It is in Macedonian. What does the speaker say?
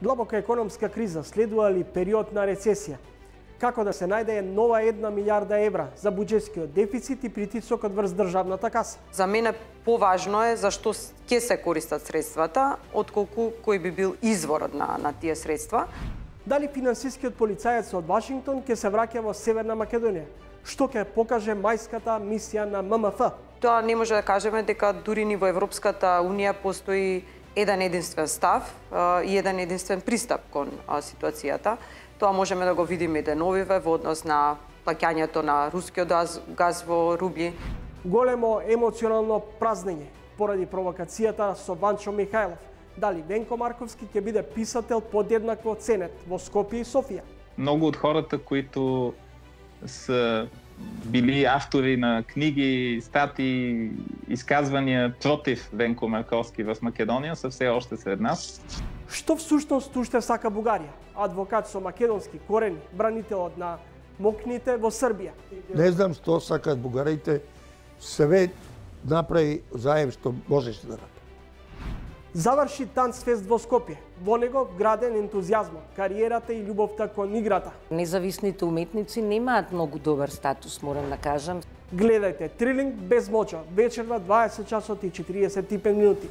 Длабока економска криза следува ли период на рецесија? Како да се најде нова 1 милиарда евра за буџетскиот дефицит и притисокот врз државната каса? За мене поважно е зашто ќе се користат средствата, отколку кој би бил изворот на тие средства. Дали финансискиот полицаец од Вашингтон ќе се враќа во Северна Македонија? Што ќе покаже мајската мисија на ММФ? Тоа не може да кажеме дека дури ни во Европската Унија постои еден единствен став и еден единствен пристап кон ситуацијата. Тоа можеме да го видиме и деновиве во однос на плаќањето на рускиот газ во рубли. Големо емоционално празнење поради провокацијата со Ванчо Михајлов. Дали Венко Марковски ќе биде писател подеднакво ценет во Скопје и Софија? Многу од хората които се били автори на книги, статии, изказвања против Венко Марковски во Македонија се все още сред нас. Што всушност уште сака Бугарија? Адвокат со македонски корени, бранителот на мокните во Србија. Не знам што сакаат бугарите, све направи заем што можеше да направи. Заврши Танцфест во Скопје. Во него вграден ентузијазмот, кариерата и љубовта кон играта. Независните уметници немаат многу добар статус, морам да кажам. Гледајте Трилинг без моча, вечерва 20 часот и 45 минути.